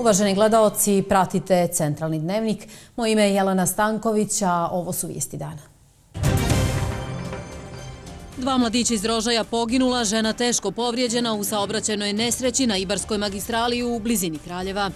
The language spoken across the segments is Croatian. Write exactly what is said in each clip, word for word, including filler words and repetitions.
Uvaženi gledaoci, pratite Centralni dnevnik. Moje ime je Jelena Stanković, a ovo su vijesti dana. Dva mladića iz Rožaja poginula, žena teško povrijeđena u saobraćajnoj nesreći na Ibarskoj magistrali u blizini Kraljeva.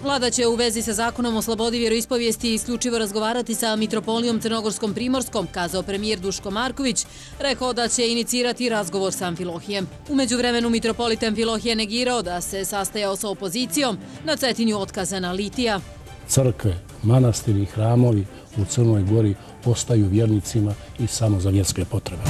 Vlada će u vezi sa zakonom o slobodi vjeroispovijesti isključivo razgovarati sa Mitropolijom Crnogorskom Primorskom, kazao premijer Duško Marković. Rekao da će inicirati razgovor sa Amfilohijem. U međuvremenu mitropolit Amfilohije negirao da se sastajao sa opozicijom, na Cetinju otkazana litija. Crkve, manastiri i hramovi u Crnoj Gori ostaju vjernicima i samo za vjerske potrebe.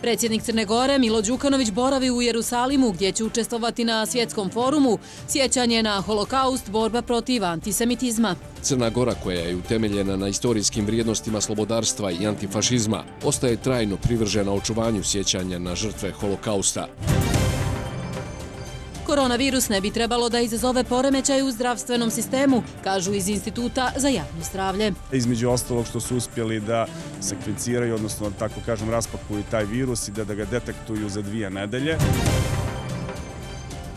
Predsjednik Crne Gore Milo Đukanović boravi u Jerusalimu gdje će učestvovati na svjetskom forumu Sjećanje na holokaust, borba protiv antisemitizma. Crna Gora, koja je utemeljena na istorijskim vrijednostima slobodarstva i antifašizma, ostaje trajno privržena očuvanju sjećanja na žrtve holokausta. Koronavirus ne bi trebalo da izazove poremećaj u zdravstvenom sistemu, kažu iz Instituta za javno zdravlje. Između ostalog što su uspjeli da sekvenciraju, odnosno tako kažem raspakuju taj virus i da, da ga detektuju za dvije nedelje.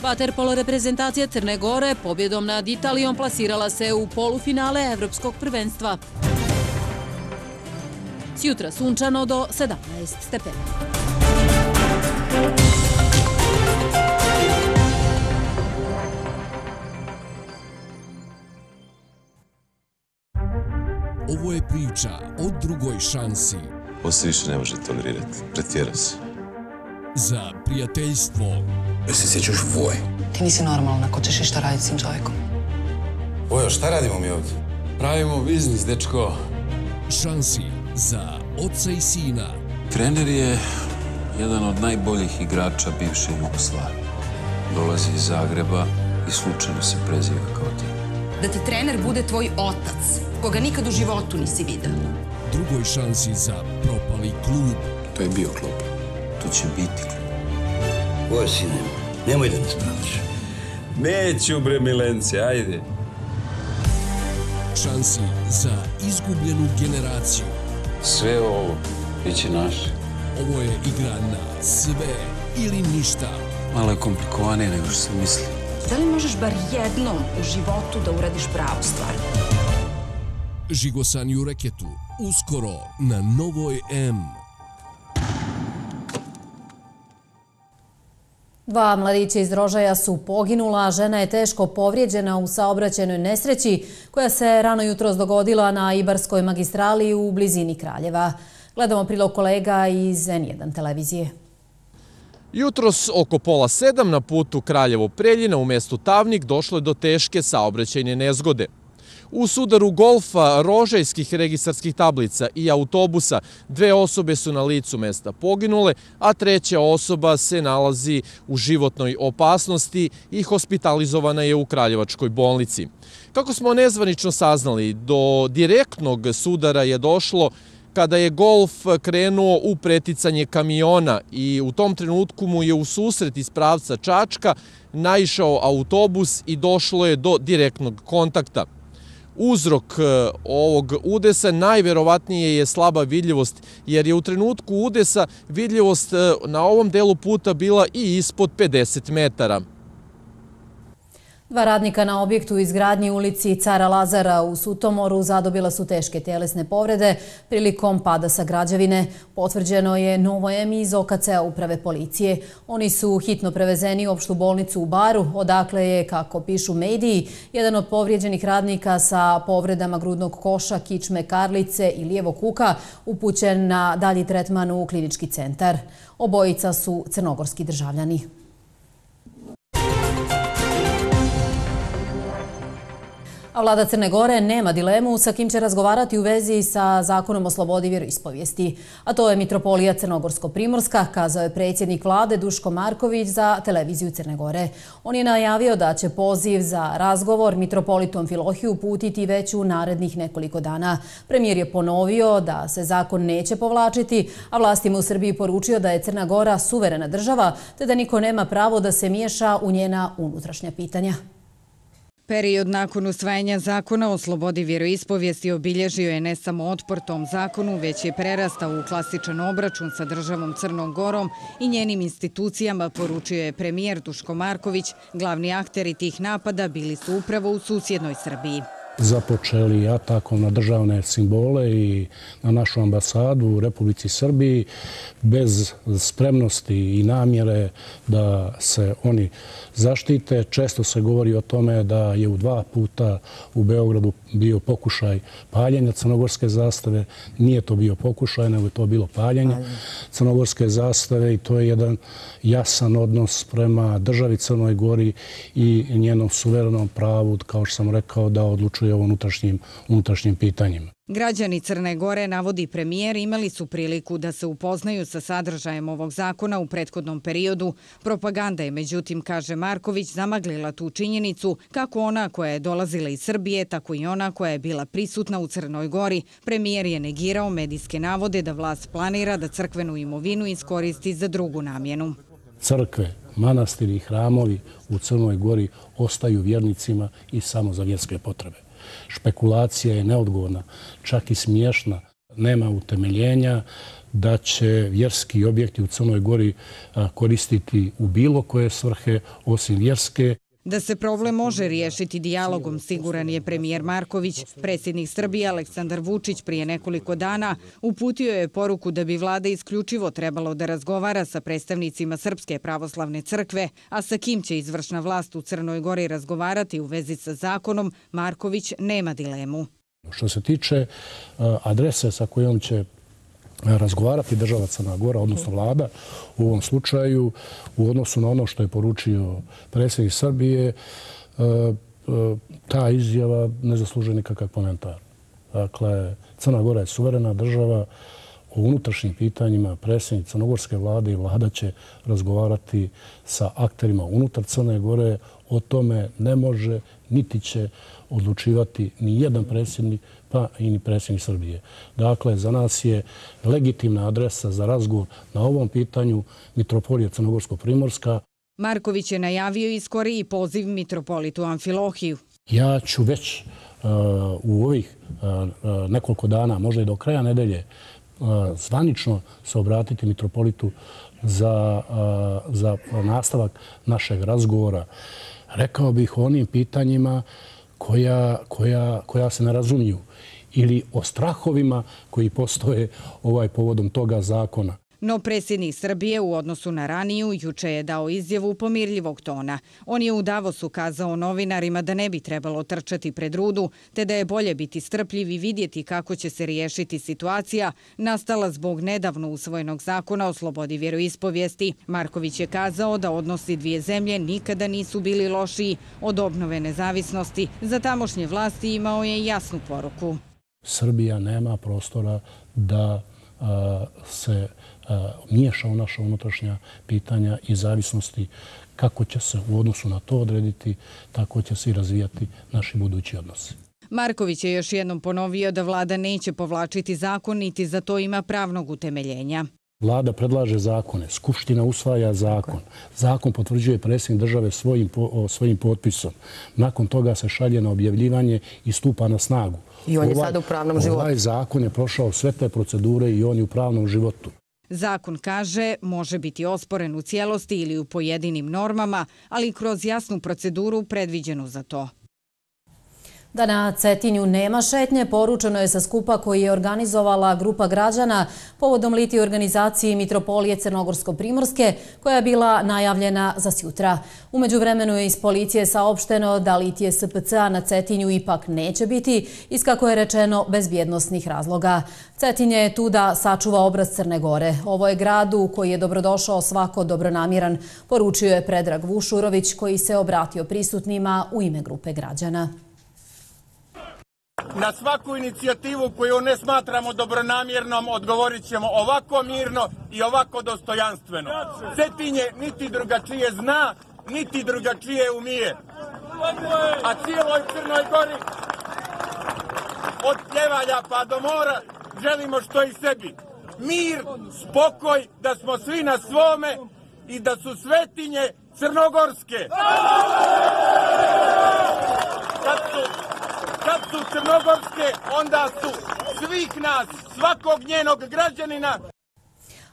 Vaterpolo reprezentacija Crne Gore pobjedom nad Italijom plasirala se u polufinale Evropskog prvenstva. Sjutra sunčano do sedamnaest stepeni. Ovo je priča o drugoj šansi. Ovo se više ne može tolerirati. Pretjerao si. Za prijateljstvo. Jel se sjećaš Voje? Ti nisi normalna, ko ćeš išta raditi s tim čovjekom? Vojo, šta radimo mi ovdje? Pravimo biznis, dečko. Šansi za oca i sina. Trener je jedan od najboljih igrača bivše Jugoslavije. Dolazi iz Zagreba i slučajno se preziva kao ti. Da ti trener bude tvoj otac, koga nikad u životu nisi vidio. Drugoj šansi za propali klub. To je bio klub. To će biti klub. Vojo, sine, nemoj da nas pravaš. Neću, bre, Milence, ajde. Šansi za izgubljenu generaciju. Sve ovo bit će naše. Ovo je igra na sve ili ništa. Malo je komplikovanije nego što sam mislio. Da li možeš bar jednom u životu da uradiš pravu stvar? Žigosan u reketu. Uskoro na Novoj M. Dva mladića iz Rožaja su poginula, žena je teško povrijeđena u saobraćajnoj nesreći koja se rano jutros dogodila na Ibarskoj magistrali u blizini Kraljeva. Gledamo prilog kolega iz N jedan televizije. Jutros oko pola sedam na putu Kraljevo-Preljina u mjestu Tavnik došlo je do teške saobraćajne nezgode. U sudaru golfa, rožajskih registarskih tablica i autobusa dve osobe su na licu mjesta poginule, a treća osoba se nalazi u životnoj opasnosti i hospitalizovana je u Kraljevačkoj bolnici. Kako smo nezvanično saznali, do direktnog sudara je došlo kada je golf krenuo u preticanje kamiona i u tom trenutku mu je u susret iz pravca Čačka naišao autobus i došlo je do direktnog kontakta. Uzrok ovog udesa najverovatnije je slaba vidljivost, jer je u trenutku udesa vidljivost na ovom delu puta bila i ispod pedeset metara. Dva radnika na objektu u izgradnji ulici Cara Lazara u Sutomoru zadobila su teške tjelesne povrede prilikom pada sa građevine. Potvrđeno je Novoj M iz O K C-a uprave policije. Oni su hitno prevezeni u opštu bolnicu u Baru, odakle je, kako pišu mediji, jedan od povrijeđenih radnika sa povredama grudnog koša, kičme, karlice i lijevog kuka upućen na dalji tretman u klinički centar. Obojica su crnogorski državljani. A vlada Crne Gore nema dilemu sa kim će razgovarati u vezi sa zakonom o slobodi vjeroispovijesti. A to je Mitropolija Crnogorsko-Primorska, kazao je predsjednik vlade Duško Marković za televiziju Crne Gore. On je najavio da će poziv za razgovor mitropolitu Amfilohiju uputiti već u narednih nekoliko dana. Premijer je ponovio da se zakon neće povlačiti, a vlastima u Srbiji poručio da je Crna Gora suverena država, te da niko nema pravo da se miješa u njena unutrašnja pitanja. Period nakon usvajanja zakona o slobodi vjeroispovijesti obilježio je ne samo otpor tom zakonu, već je prerastao u klasičan obračun sa državom Crnom Gorom i njenim institucijama, poručio je premijer Duško Marković. Glavni akteri tih napada bili su upravo u susjednoj Srbiji. Započeli atakom na državne simbole i na našu ambasadu u Republici Srbiji bez spremnosti i namjere da se oni zaštite. Često se govori o tome da je u dva puta u Beogradu bio pokušaj paljenja crnogorske zastave. Nije to bio pokušaj, nego je to bilo paljenje crnogorske zastave i to je jedan jasan odnos prema državi Crnoj Gori i njenom suverenom pravu, kao što sam rekao, da odlučuje o unutrašnjim, unutrašnjim pitanjima. Građani Crne Gore, navodi premijer, imali su priliku da se upoznaju sa sadržajem ovog zakona u prethodnom periodu. Propaganda je, međutim, kaže Marković, zamaglila tu činjenicu kako ona koja je dolazila iz Srbije, tako i ona koja je bila prisutna u Crnoj Gori. Premijer je negirao medijske navode da vlast planira da crkvenu imovinu iskoristi za drugu namjenu. Crkve, manastiri i hramovi u Crnoj Gori ostaju vjernicima i samo za vjerske potrebe. Špekulacija je neodgovorna, čak i smiješna. Nema utemeljenja da će vjerski objekti u Crnoj Gori koristiti u bilo koje svrhe osim vjerske. Da se problem može riješiti dijalogom, siguran je premijer Marković. Predsjednik Srbije Aleksandar Vučić prije nekoliko dana uputio je poruku da bi vlada isključivo trebalo da razgovara sa predstavnicima Srpske pravoslavne crkve, a sa kim će izvršna vlast u Crnoj Gori razgovarati u vezi sa zakonom, Marković nema dilemu. Što se tiče adrese sa kojom će razgovarati država Crna Gora, odnosno vlada, u ovom slučaju, u odnosu na ono što je poručio predsjednik Srbije, ta izjava ne zaslužuje nikakav komentar. Dakle, Crna Gora je suverena država, o unutrašnjim pitanjima predsjednik crnogorske vlade i vlada će razgovarati sa akterima unutar Crne Gore. O tome ne može niti će odlučivati ni jedan predsjednik, pa i ni predsjednik Srbije. Dakle, za nas je legitimna adresa za razgovor na ovom pitanju Mitropolija Crnogorsko-Primorska. Marković je najavio i skoriji poziv mitropolitu Amfilohiju. Ja ću već uh, u ovih uh, nekoliko dana, možda i do kraja nedelje, uh, zvanično se obratiti mitropolitu za, uh, za nastavak našeg razgovora. Rekao bih o onim pitanjima koja, koja, koja se ne razumiju ili o strahovima koji postoje ovaj povodom toga zakona. No predsjednik Srbije u odnosu na raniju juče je dao izjavu pomirljivog tona. On je u Davosu kazao novinarima da ne bi trebalo trčati pred rudu, te da je bolje biti strpljiv i vidjeti kako će se riješiti situacija nastala zbog nedavno usvojenog zakona o slobodi vjeroispovijesti. Marković je kazao da odnosi dvije zemlje nikada nisu bili lošiji od obnove nezavisnosti. Za tamošnje vlasti imao je jasnu poruku. Srbija nema prostora da a, se a, miješa u naša unutrašnja pitanja i zavisnosti. Kako će se u odnosu na to odrediti, tako će se i razvijati naši budući odnosi. Marković je još jednom ponovio da vlada neće povlačiti zakon, niti za to ima pravnog utemeljenja. Vlada predlaže zakone, Skupština usvaja zakon, zakon potvrđuje predsjednik države svojim, svojim potpisom. Nakon toga se šalje na objavljivanje i stupa na snagu. I on je sada u pravnom životu. Ovaj zakon je prošao sve te procedure i on je u pravnom životu. Zakon, kaže, može biti osporen u cijelosti ili u pojedinim normama, ali kroz jasnu proceduru predviđenu za to. Da na Cetinju nema šetnje, poručeno je sa skupa koji je organizovala grupa građana povodom litije organizaciji Mitropolije Crnogorsko-Primorske, koja je bila najavljena za sjutra. U međuvremenu je iz policije saopšteno da litije S P C-a na Cetinju ipak neće biti, iz kako je rečeno bezbjednosnih razloga. Cetin je tu da sačuva obraz Crne Gore. Ovo je grad u koji je dobrodošao svako dobronamjeran, poručio je Predrag Vušurović, koji se obratio prisutnima u ime grupe građana. Na svaku inicijativu koju ne smatramo dobronamjernom odgovorit ćemo ovako mirno i ovako dostojanstveno. Cetinje niti drugačije zna, niti drugačije umije. A cijeloj Crnoj Gori, od Pljevalja pa do mora, želimo što i sebi. Mir, spokoj, da smo svi na svome i da su svetinje crnogorske. su crnogorske, onda su svih nas, svakog njenog građanina.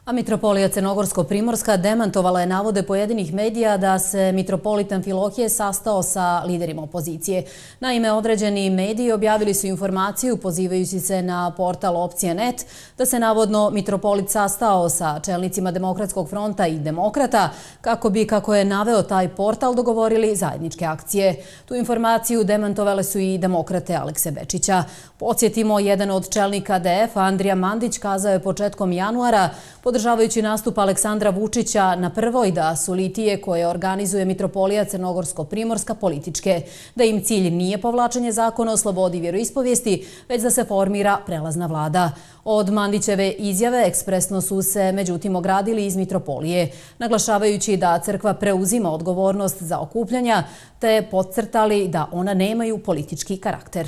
A mitropolija Crnogorsko-Primorska demantovala je navode pojedinih medija da se mitropolit Amfilohije sastao sa liderima opozicije. Naime, određeni mediji objavili su informaciju, pozivajući se na portal Opcija net, da se navodno mitropolit sastao sa čelnicima Demokratskog fronta i Demokrata, kako bi, kako je naveo taj portal, dogovorili zajedničke akcije. Tu informaciju demantovale su i Demokrate Alekse Bečića. Podsjetimo, jedan od čelnika D F, Andrija Mandić, kazao je početkom januara, podržavajući nastup Aleksandra Vučića na prvoj, da su litije koje organizuje mitropolija Crnogorsko-Primorska političke, da im cilj nije povlačenje zakona o slobodi vjeroispovijesti, već da se formira prelazna vlada. Od Mandićeve izjave ekspresno su se međutim ogradili iz mitropolije, naglašavajući da crkva preuzima odgovornost za okupljanja, te podcrtali da ona nemaju politički karakter.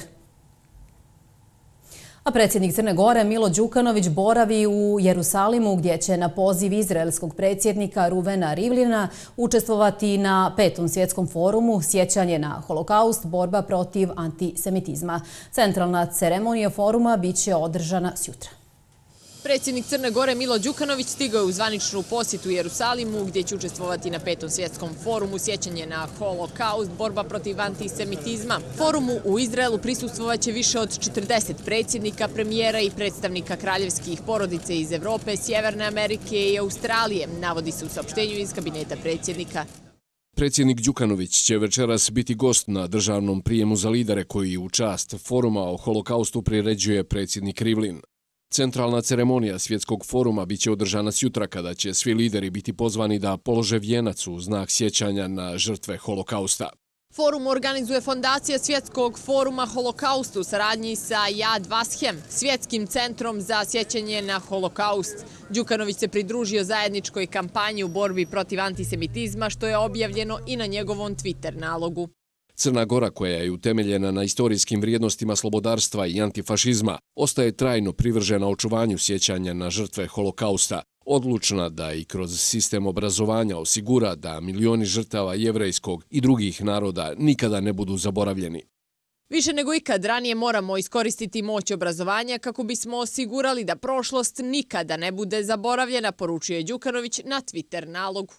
A predsjednik Crne Gore Milo Đukanović boravi u Jerusalimu, gdje će na poziv izraelskog predsjednika Ruvena Rivlina učestvovati na petom svjetskom forumu Sjećanje na holokaust, borba protiv antisemitizma. Centralna ceremonija foruma bit će održana sjutra. Predsjednik Crne Gore Milo Đukanović stigao je u zvaničnu posjetu Jerusalimu, gdje će učestvovati na petom svjetskom forumu Sjećanje na holokaust, borba protiv antisemitizma. Forumu u Izraelu prisustvovaće više od četrdeset predsjednika, premijera i predstavnika kraljevskih porodice iz Evrope, Sjeverne Amerike i Australije, navodi se u saopštenju iz kabineta predsjednika. Predsjednik Đukanović će večeras biti gost na državnom prijemu za lidere koji u čast foruma o holokaustu priređuje predsjednik Rivlin. Centralna ceremonija svjetskog foruma biće održana sjutra, kada će svi lideri biti pozvani da polože vijenac u znak sjećanja na žrtve holokausta. Forum organizuje Fondacija Svjetskog foruma holokaustu u saradnji sa Yad Vashem, svjetskim centrom za sjećanje na holokaust. Đukanović se pridružio zajedničkoj kampanji u borbi protiv antisemitizma, što je objavljeno i na njegovom Twitter nalogu. Crna Gora, koja je utemeljena na istorijskim vrijednostima slobodarstva i antifašizma, ostaje trajno privržena očuvanju sjećanja na žrtve holokausta, odlučna da i kroz sistem obrazovanja osigura da milioni žrtava jevrejskog i drugih naroda nikada ne budu zaboravljeni. Više nego ikad ranije moramo iskoristiti moć obrazovanja kako bismo osigurali da prošlost nikada ne bude zaboravljena, poručio je Đukanović na Twitter nalogu.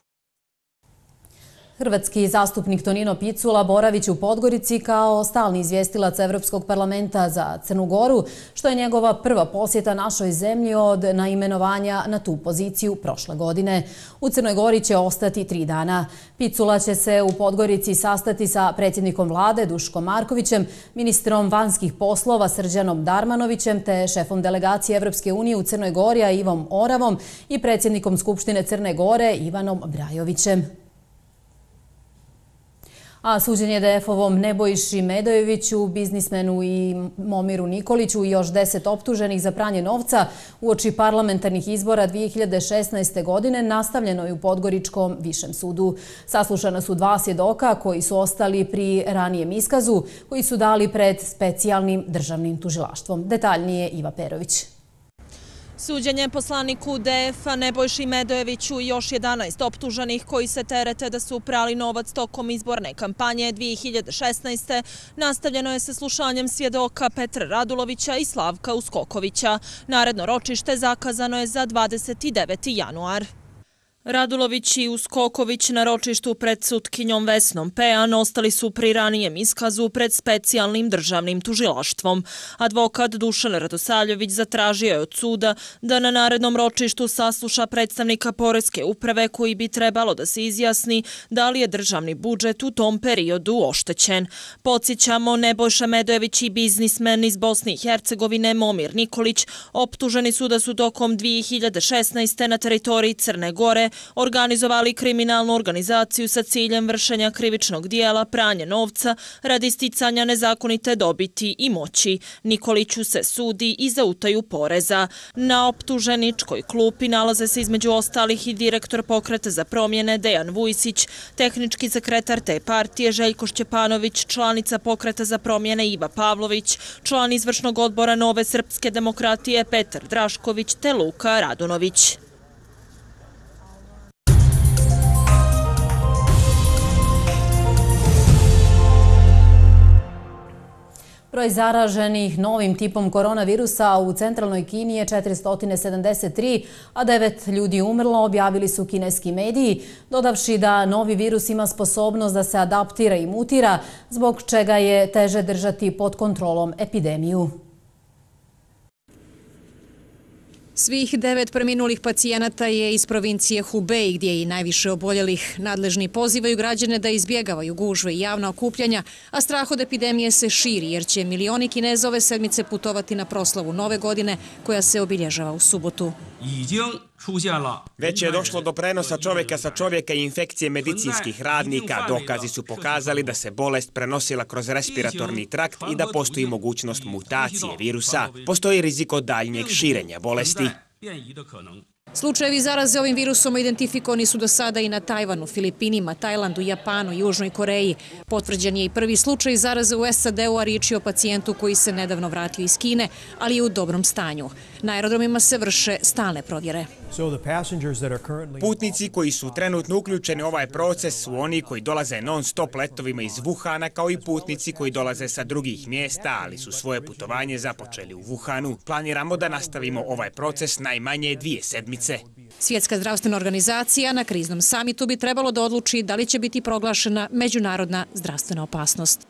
Hrvatski zastupnik Tonino Picula boravit će u Podgorici kao stalni izvjestilac Evropskog parlamenta za Crnu Goru, što je njegova prva posjeta našoj zemlji od naimenovanja na tu poziciju prošle godine. U Crnoj Gori će ostati tri dana. Picula će se u Podgorici sastati sa predsjednikom vlade Duškom Markovićem, ministrom vanjskih poslova Srđanom Darmanovićem te šefom delegacije Evropske unije u Crnoj Gori Ivom Oravom i predsjednikom Skupštine Crne Gore Ivanom Brajovićem. A suđenje D F-ovom Nebojši Medojeviću, biznismenu i Momiru Nikoliću i još deset optuženih za pranje novca uoči parlamentarnih izbora dvije hiljade šesnaeste. godine nastavljeno je u Podgoričkom višem sudu. Saslušana su dva svjedoka koji su ostali pri ranijem iskazu, koji su dali pred specijalnim državnim tužilaštvom. Detaljnije Iva Perović. Suđenje poslaniku D F-a Nebojši Medojeviću i još jedanaest optuženih koji se terete da su prali novac tokom izborne kampanje dvije hiljade šesnaeste. nastavljeno je sa slušanjem svjedoka Petra Radulovića i Slavka Uskokovića. Naredno ročište zakazano je za dvadeset deveti januar. Radulović i Uskoković na ročištu pred sutkinjom Vesnom Pejan ostali su pri ranijem iskazu pred specijalnim državnim tužilaštvom. Advokat Dušan Radosavljević zatražio je od suda da na narednom ročištu sasluša predstavnika Poreske uprave koji bi trebalo da se izjasni da li je državni budžet u tom periodu oštećen. Podsjećamo, Nebojša Medojević i biznismen iz Bosne i Hercegovine Momir Nikolić optuženi su da su tokom dvije hiljade šesnaeste. na teritoriji Crne Gore organizovali kriminalnu organizaciju sa ciljem vršenja krivičnog dijela pranja novca radi sticanja nezakonite dobiti i moći. Nikoliću se sudi i za utaju poreza. Na optuženičkoj klupi nalaze se između ostalih i direktor Pokreta za promjene Dejan Vujsić, tehnički sekretar te partije Željko Šćepanović, članica Pokreta za promjene Iva Pavlović, član izvršnog odbora Nove srpske demokratije Petar Drašković te Luka Radunović. Broj zaraženih novim tipom koronavirusa u centralnoj Kini je četiristo sedamdeset tri, a devet ljudi umrlo, objavili su kineski mediji, dodavši da novi virus ima sposobnost da se adaptira i mutira, zbog čega je teže držati pod kontrolom epidemiju. Svih devet preminulih pacijenata je iz provincije Hubei, gdje je i najviše oboljelih. Nadležni pozivaju građane da izbjegavaju gužve i javna okupljanja, a strah od epidemije se širi, jer će milioni Kineza ove sedmice putovati na proslavu Nove godine, koja se obilježava u subotu. Već je došlo do prenosa čovjeka sa čovjeka i infekcije medicinskih radnika. Dokazi su pokazali da se bolest prenosila kroz respiratorni trakt i da postoji mogućnost mutacije virusa. Postoji rizik od daljnjeg širenja bolesti. Slučajevi zaraze ovim virusom identifikovani su do sada i na Tajvanu, Filipinima, Tajlandu, Japanu i Južnoj Koreji. Potvrđen je i prvi slučaj zaraze u S A D-u, a riječ je o pacijentu koji se nedavno vratio iz Kine, ali je u dobrom stanju. Na aerodromima se vrše stalne provjere. Putnici koji su trenutno uključeni u ovaj proces su oni koji dolaze non-stop letovima iz Wuhana, kao i putnici koji dolaze sa drugih mjesta, ali su svoje putovanje započeli u Wuhanu. Planiramo da nastavimo ovaj proces najmanje dvije sedmice. Svjetska zdravstvena organizacija na kriznom samitu bi trebalo da odluči da li će biti proglašena međunarodna zdravstvena opasnost.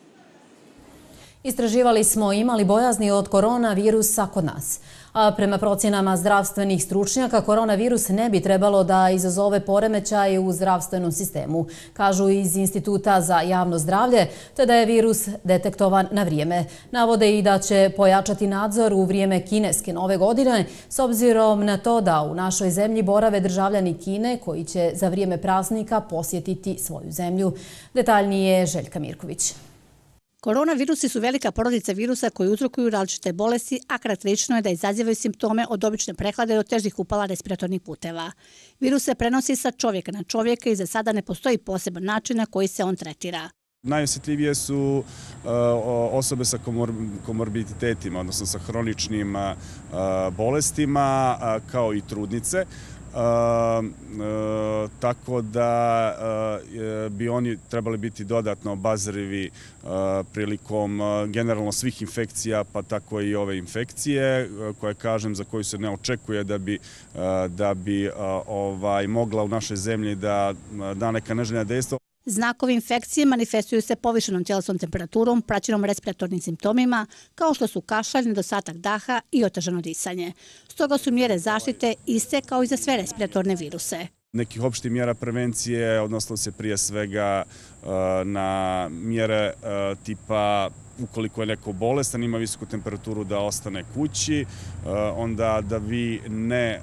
Istraživali smo imali bojazni od koronavirusa kod nas. A prema procjenama zdravstvenih stručnjaka, koronavirus ne bi trebalo da izazove poremećaj u zdravstvenom sistemu, kažu iz Instituta za javno zdravlje, te da je virus detektovan na vrijeme. Navode i da će pojačati nadzor u vrijeme kineske Nove godine, s obzirom na to da u našoj zemlji borave državljani Kine koji će za vrijeme praznika posjetiti svoju zemlju. Detaljnije Željka Mirković. Koronavirusi su velika porodica virusa koji uzrokuju različite bolesti, a karakterično je da izazivaju simptome od obične prehlade do težih upala respiratornih puteva. Virus se prenosi sa čovjeka na čovjeka i za sada ne postoji poseban način na koji se on tretira. Najosjetljivije su uh, osobe sa komor komorbiditetima, odnosno sa hroničnim uh, bolestima, uh, kao i trudnice. Uh, uh, tako da uh, bi oni trebali biti dodatno obazrivi uh, prilikom uh, generalno svih infekcija, pa tako i ove infekcije, uh, koje kažem za koju se ne očekuje da bi, uh, da bi uh, ovaj, mogla u našoj zemlji da uh, da neka neželjena dejstva. Znakovi infekcije manifestuju se povišenom tjelesnom temperaturom, praćenom respiratornim simptomima, kao što su kašalj, nedostatak daha i otežano disanje. Stoga su mjere zaštite iste kao i za sve respiratorne viruse. Nekih opštih mjera prevencije odnosilo se prije svega na mjere tipa ukoliko je neko bolestan, ima visoku temperaturu da ostane kući, onda da vi ne,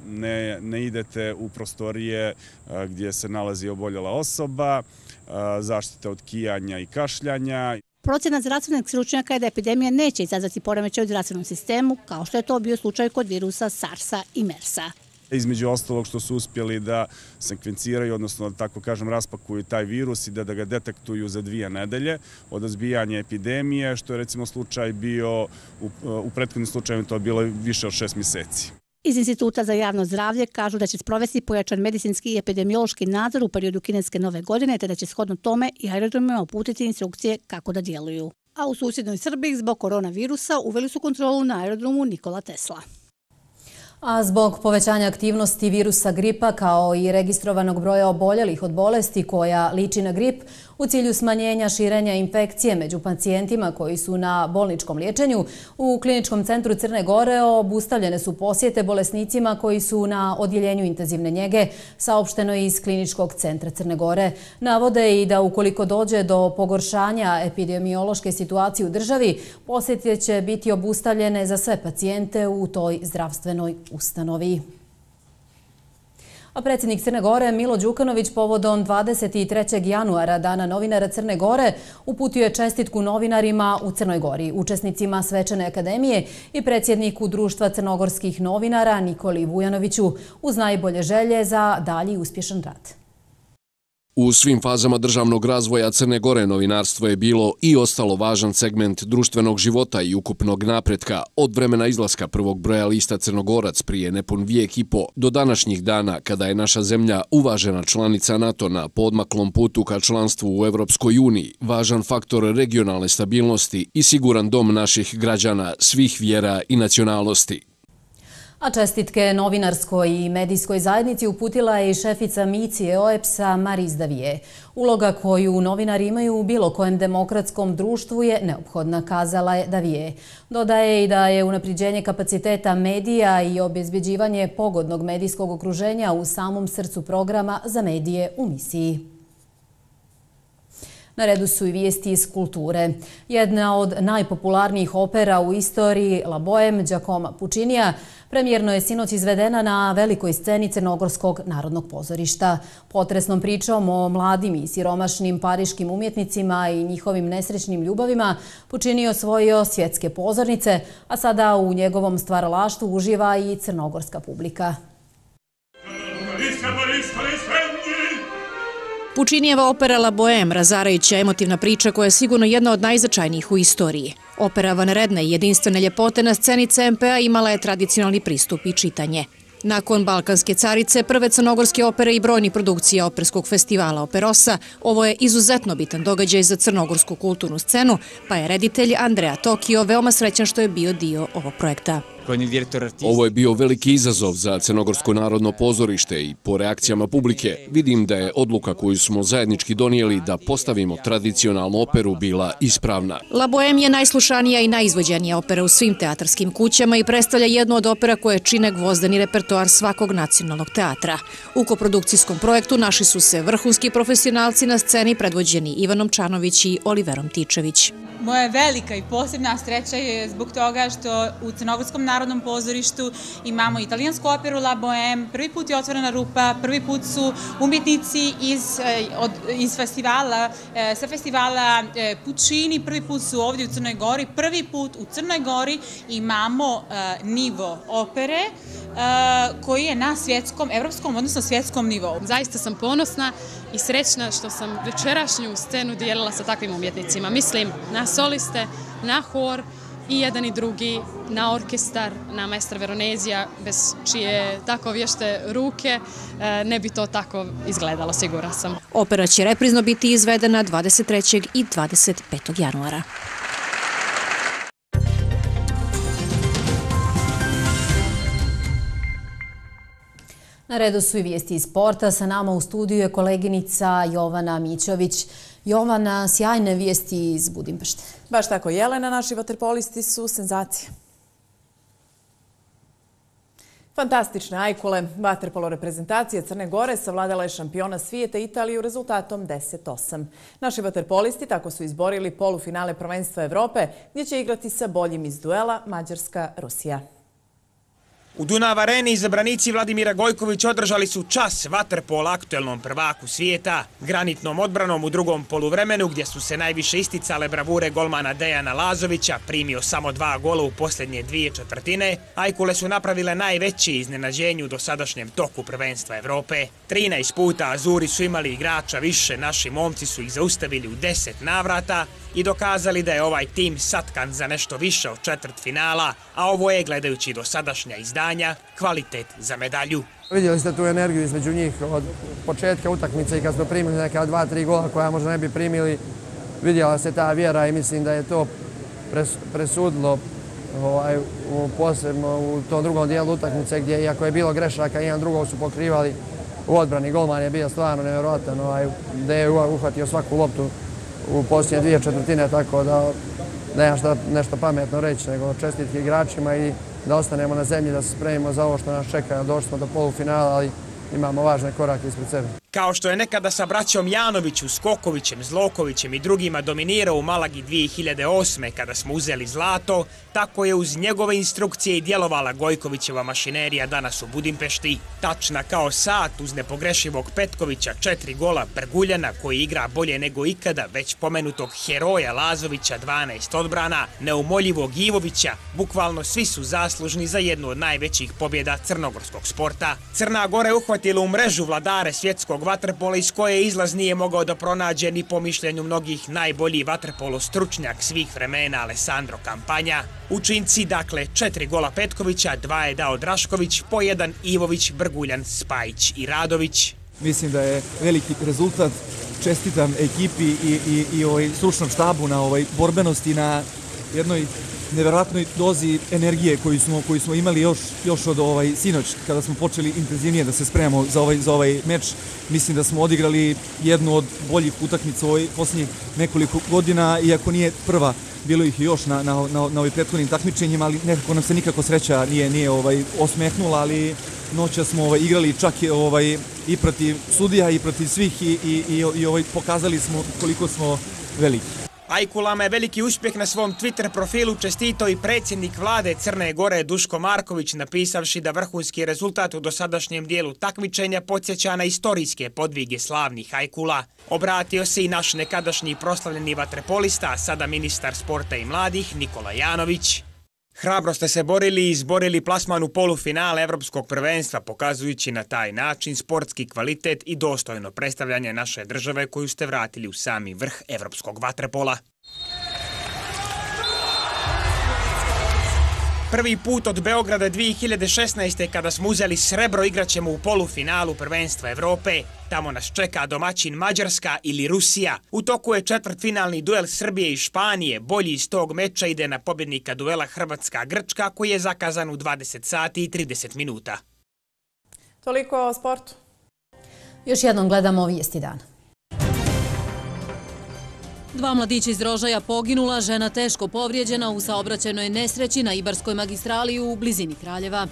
ne, ne idete u prostorije gdje se nalazi oboljela osoba, zaštita od kijanja i kašljanja. Procjena zdravstvenih stručnjaka je da epidemija neće izazvati poremećaj u zdravstvenom sistemu, kao što je to bio slučaj kod virusa SARS-a i MERS-a. Između ostalog što su uspjeli da sekvenciraju, odnosno da tako kažem raspakuju taj virus i da, da ga detektuju za dvije nedelje od izbijanja epidemije, što je recimo slučaj bio, u, u prethodnim slučajima to je bilo više od šest mjeseci. Iz Instituta za javno zdravlje kažu da će sprovesti pojačan medicinski i epidemiološki nadzor u periodu kineske Nove godine, te da će shodno tome i aerodromima uputiti instrukcije kako da djeluju. A u susjednoj Srbiji zbog koronavirusa uveli su kontrolu na aerodromu Nikola Tesla. A zbog povećanja aktivnosti virusa gripa kao i registrovanog broja oboljelih od bolesti koja liči na grip, u cilju smanjenja širenja infekcije među pacijentima koji su na bolničkom liječenju, u Kliničkom centru Crne Gore obustavljene su posjete bolesnicima koji su na odjeljenju intenzivne njege, saopšteno iz Kliničkog centra Crne Gore. Navode i da ukoliko dođe do pogoršanja epidemiološke situacije u državi, posjete će biti obustavljene za sve pacijente u toj zdravstvenoj ustanovi. A predsjednik Crne Gore Milo Đukanović povodom dvadeset trećeg januara, Dana novinara Crne Gore, uputio je čestitku novinarima u Crnoj Gori, učesnicima Svečane akademije i predsjedniku Društva crnogorskih novinara Nikoli Vujanoviću uz najbolje želje za dalji uspješan rad. U svim fazama državnog razvoja Crne Gore novinarstvo je bilo i ostalo važan segment društvenog života i ukupnog napretka od vremena izlaska prvog broja lista Crnogorac prije nepun vijek i po do današnjih dana kada je naša zemlja uvažena članica NATO na poodmaklom putu ka članstvu u Evropskoj uniji, važan faktor regionalne stabilnosti i siguran dom naših građana svih vjera i nacionalnosti. A čestitke novinarskoj i medijskoj zajednici uputila je i šefica misije O E P S-a Maryse Davie. Uloga koju novinari imaju u bilo kojem demokratskom društvu je neophodna, kazala je Davie. Dodaje i da je unapređenje kapaciteta medija i obezbeđivanje pogodnog medijskog okruženja u samom srcu programa za medije u misiji. Na redu su i vijesti iz kulture. Jedna od najpopularnijih opera u istoriji, La Bohème Giacomo Puccinija, premijerno je sinoć izvedena na velikoj sceni Crnogorskog narodnog pozorišta. Potresnom pričom o mladim i siromašnim pariškim umjetnicima i njihovim nesrećnim ljubavima Puccini je osvojio svjetske pozornice, a sada u njegovom stvaralaštvu uživa i crnogorska publika. Puccinijeva opera La Bohème, razarajuća emotivna priča koja je sigurno jedna od najznačajnijih u istoriji. Opera vanredne i jedinstvene ljepote na sceni C M P-a imala je tradicionalni pristup i čitanje. Nakon Balkanske carice, prve crnogorske opere i brojni produkcija operskog festivala Operosa, ovo je izuzetno bitan događaj za crnogorsku kulturnu scenu, pa je reditelj Andrea Tokio veoma srećan što je bio dio ovog projekta. Ovo je bio veliki izazov za Crnogorsko narodno pozorište i po reakcijama publike vidim da je odluka koju smo zajednički donijeli da postavimo tradicionalnu operu bila ispravna. La Bohème je najslušanija i najizvođenija opera u svim teatarskim kućama i predstavlja jednu od opera koje čine gvozdeni repertoar svakog nacionalnog teatra. U koprodukcijskom projektu našli su se vrhunski profesionalci na sceni predvođeni Ivanom Čanović i Oliverom Tičević. Moja velika i posebna sreća je zbog toga što u Crnogorskom narodnom pozorištu imamo italijansku operu La Bohème. Prvi put je otvorena rupa, prvi put su umjetnici iz, od, iz festivala, sa festivala Puccini, prvi put su ovdje u Crnoj Gori. Prvi put u Crnoj Gori imamo nivo opere koji je na svjetskom, evropskom, odnosno svjetskom nivou. Zaista sam ponosna i srećna što sam večerašnju scenu dijelila sa takvim umjetnicima. Mislim na soliste, na hor i jedan i drugi, na orkestar, na maestra Veronezija, bez čije tako vješte ruke ne bi to tako izgledalo, sigura sam. Opera će reprizno biti izvedena dvadeset trećeg i dvadeset petog januara. Na redu su i vijesti iz sporta. Sa nama u studiju je koleginica Jovana Mićović. Jovana, sjajne vijesti iz Budimpešte. Baš tako, Jelena, naši vaterpolisti su senzacije. Fantastične ajkule. Vaterpolo reprezentacija Crne Gore savladala je šampiona svijeta Italiju rezultatom deset osam. Naši vaterpolisti tako su izborili polufinale prvenstva Evrope, gdje će igrati sa boljim iz duela Mađarska-Rusija. U Dunav areni izabranici Vladimira Gojkovića održali su čas vaterpola aktuelnom prvaku svijeta, granitnom odbranom u drugom poluvremenu gdje su se najviše isticale bravure golmana Dejana Lazovića, primio samo dva gola u posljednje dvije četvrtine. Ajkule su napravile najveći iznenađenju do sadašnjem toku prvenstva Evrope. trinaest puta Azuri su imali igrača više, naši momci su ih zaustavili u deset navrata i dokazali da je ovaj tim satkan za nešto više od četvrt finala, a ovo je, gledajući do sadašnja izdanja, kvalitet za medalju. Vidjeli ste tu energiju između njih od početka utakmice i kad smo primili neka dva, tri gola koja možda ne bi primili, vidjela se ta vjera i mislim da je to presudilo ovaj, u, posebno u tom drugom dijelu utakmice gdje, iako je bilo grešaka, jedan drugog su pokrivali u odbrani. Golman je bio stvarno nevjerojatan, ovaj, da je uhvatio svaku loptu u posljednje dvije četvrtine, tako da nemam šta nešto pametno reći, nego čestitke igračima i da ostanemo na zemlji, da se spremimo za ovo što nas čeka. Došli smo do polufinala, ali imamo važne korake ispred sebe. Kao što je nekada sa braćom Janoviću, Skokovićem, Zlokovićem i drugima dominirao u Malagi dvije hiljade osme kada smo uzeli zlato, tako je uz njegove instrukcije i djelovala Gojkovićeva mašinerija danas u Budimpešti. Tačna kao sat uz nepogrešivog Petkovića, četiri gola Brguljana koji igra bolje nego ikada, već pomenutog heroja Lazovića, dvanaest odbrana, neumoljivog Ivovića, bukvalno svi su zaslužni za jednu od najvećih pobjeda crnogorskog sporta. Crna Gora je uhvatila u mrežu vladare svjetskog evropskog vaterpola iz koje izlaz nije mogao da pronađe ni po mišljenju mnogih najbolji vaterpolo stručnjak svih vremena Alessandro Campagna. Učinci, dakle, četiri gola Petkovića, dva je dao Drašković, po jedan Ivović, Brguljan, Spajić i Radović. Mislim da je veliki rezultat. Čestitam ekipi i, i, i ovaj stručnom štabu na ovoj borbenosti, na jednoj nevjerojatnoj dozi energije koju smo, koju smo imali još, još od ovaj sinoć kada smo počeli intenzivnije da se spremamo za ovaj, za ovaj meč. Mislim da smo odigrali jednu od boljih utakmica u ovoj posljednjih nekoliko godina, iako nije prva, bilo ih još na, na, na, na ovim prethodnim takmičenjima, ali nekako nam se nikako sreća nije, nije ovaj, osmehnula, ali noća smo ovaj, igrali čak ovaj, i protiv sudija i protiv svih i, i, i, i ovaj, pokazali smo koliko smo veliki. Ajkulama je veliki uspjeh na svom Twitter profilu čestitao i predsjednik vlade Crne Gore Duško Marković, napisavši da vrhunski rezultat u dosadašnjem dijelu takmičenja podsjeća na istorijske podvige slavnih Ajkula. Obratio se i naš nekadašnji proslavljeni vaterpolista, a sada ministar sporta i mladih Nikola Janović. Hrabro ste se borili i izborili plasman u polufinale Evropskog prvenstva, pokazujući na taj način sportski kvalitet i dostojno predstavljanje naše države koju ste vratili u sami vrh evropskog vaterpola. Prvi put od Beograda dvije hiljade šesnaeste. kada smo uzeli srebro igraćemo u polufinalu prvenstva Evrope. Tamo nas čeka domaćin Mađarska ili Rusija. U toku je četvrtfinalni duel Srbije i Španije. Bolji iz tog meča ide na pobjednika duela Hrvatska-Grčka koji je zakazan u dvadeset sati i trideset minuta. Toliko o sportu. Još jednom gledamo vijesti dana. Dva mladića iz Rožaja poginula, žena teško povrijeđena u saobraćajnoj nesreći na Ibarskoj magistrali u blizini Kraljeva.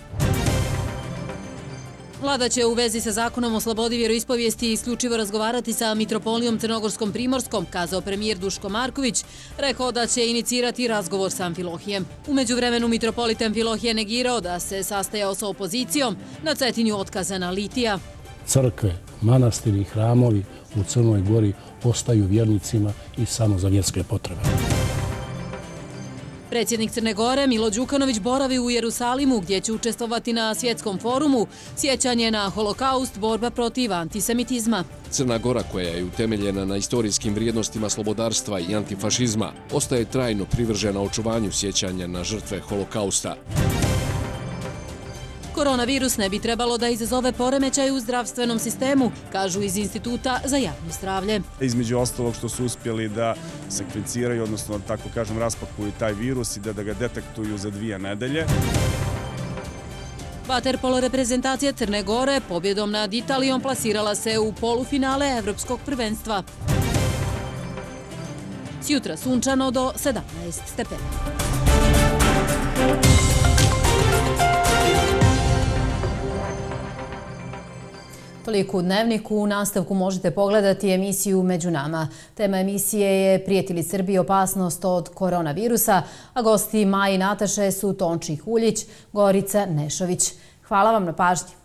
Vlada će u vezi sa zakonom o slobodi vjeroispovijesti isključivo razgovarati sa mitropolijom Crnogorskom Primorskom, kazao premijer Duško Marković, rekao da će inicirati razgovor sa Amfilohijem. U međuvremenu mitropolit Amfilohije negirao da se sastajao sa opozicijom, na Cetinju otkazana litija. Crkve, manastiri i hramovi u Crnoj Gori ostaju vjernicima i samo za vjerske potrebe. Predsjednik Crne Gore Milo Đukanović boravi u Jerusalimu gdje će učestvovati na svjetskom forumu Sjećanje na holokaust, borba protiv antisemitizma. Crna Gora, koja je utemeljena na istorijskim vrijednostima slobodarstva i antifašizma, ostaje trajno privržena očuvanju sjećanja na žrtve holokausta. Koronavirus ne bi trebalo da izazove poremećaj u zdravstvenom sistemu, kažu iz Instituta za javno zdravlje. Između ostalog što su uspjeli da sekvenciraju, odnosno tako kažem raspakuju taj virus i da, da ga detektuju za dvije nedelje. Vaterpolo reprezentacija Crne Gore pobjedom nad Italijom plasirala se u polufinale Evropskog prvenstva. Sjutra sunčano do sedamnaest stepeni. Toliko u Dnevniku. U nastavku možete pogledati emisiju Među nama. Tema emisije je Prijeti li Srbiji opasnost od koronavirusa, a gosti Maji Nataše su Tonči Huljić, Gorica Nešović. Hvala vam na pažnji.